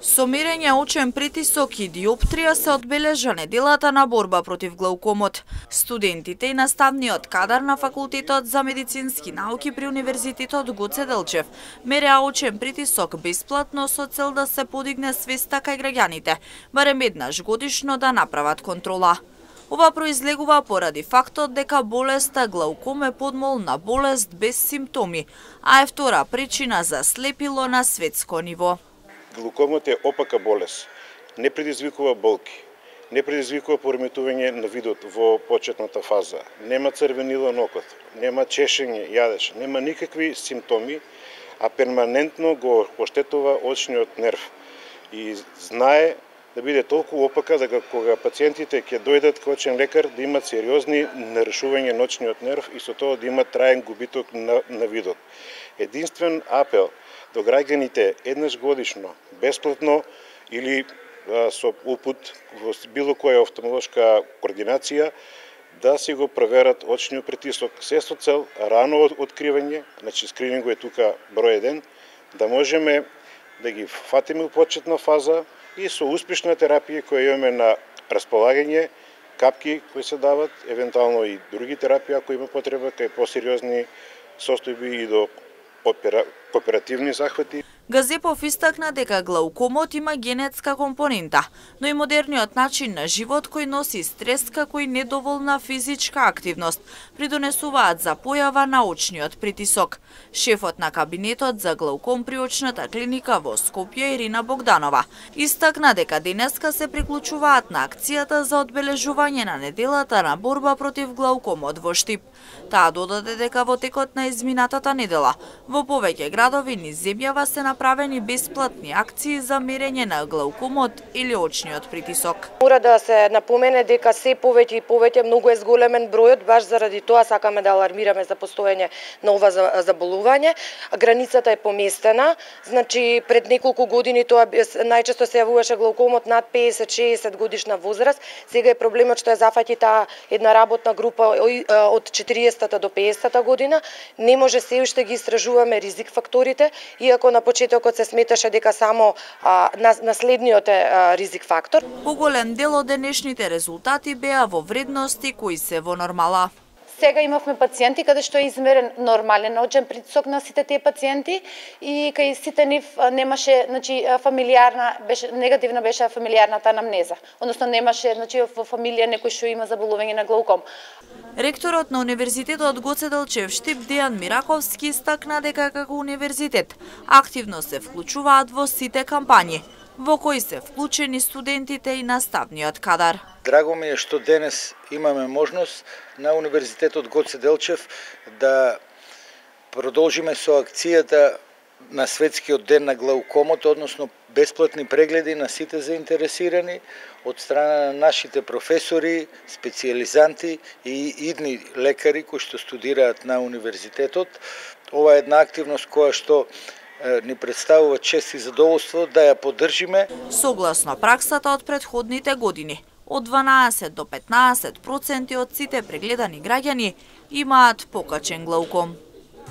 Со мерење очен притисок и диоптрија се одбележа неделата на борба против глаукомот. Студентите и наставниот кадар на Факултетот за медицински науки при Универзитетот Гоце Делчев мереа очен притисок бесплатно со цел да се подигне свеста кај граѓаните, барем еднаш годишно да направат контрола. Ова произлегува поради фактот дека болеста глауком е подмолна болест без симптоми, а е втора причина за слепило на светско ниво. Глаукомот е опака болест. Не предизвикува болки, не предизвикува пореметување на видот во почетната фаза, нема црвенило на окот, нема чешење, јадеж, нема никакви симптоми, а перманентно го оштетува очниот нерв. И знае да биде толку опака дека кога пациентите ќе дојдат кај очен лекар да имат сериозни нарушувања на очниот нерв и со тоа да имат траен губиток на видот. Единствен апел до граѓаните еднаш годишно, бесплатно или со упут во било која офталмолошка координација да си го проверат очниот притисок, се со цел рано откривање, значи скрининг е тука број 1, да можеме да ги фатиме во почетна фаза и со успешна терапија која имаме на располагање, капки кои се дават, евентуално и други терапии ако има потреба кај посериозни состојби и до оперативни захвати. Газепов истакна дека глаукомот има генетска компонента, но и модерниот начин на живот кој носи стрес како и недоволна физичка активност придонесуваат за појава на очниот притисок. Шефот на кабинетот за глауком при очната клиника во Скопје Ирина Богданова истакна дека денеска се приклучуваат на акцијата за одбележување на неделата на борба против глаукомот во Штип. Таа додаде дека во текот на изминатата недела во повеќе градови низ земјава се направени бесплатни акции за мерење на глаукомот или очниот притисок. Мора да се напомене дека се повеќе и повеќе многу е зголемен бројот, баш заради тоа сакаме да алармираме за постоење на ова заболување. Границата е поместена, значи пред неколку години тоа најчесто се јавуваше глаукомот над 50-60 годишна возраст. Сега е проблемот што ја зафаќа таа една работна група од 40-та до 50-та година. Не може се уште ги истражуваме ризик факторите, иако на почетокот се сметаше дека само наследниот е ризик фактор. Поголем дел од денешните резултати беа во вредности кои се во нормала. Сега имавме пациенти каде што е измерен нормален очен притисок на сите тие пациенти и кај сите нив немаше, значи негативна беше фамилиарната анамнеза. Односно немаше, значи во фамилија некој што има заболување на глауком. Ректорот на Универзитетот Гоце Делчев Штип Дејан Мираковски истакна дека како универзитет активно се вклучуваат во сите кампањи, во кои се вклучени студентите и наставниот кадар. Драго ми е што денес имаме можност на Универзитетот Гоце Делчев да продолжиме со акцијата на Светскиот ден на глаукомот, односно бесплатни прегледи на сите заинтересирани од страна на нашите професори, специјализанти и идни лекари кои што студираат на универзитетот. Ова е една активност која што ни представува чест и задоволство да ја поддржиме. Согласно праксата од претходните години, од 12 до 15% од сите прегледани граѓани имаат покачен глауком.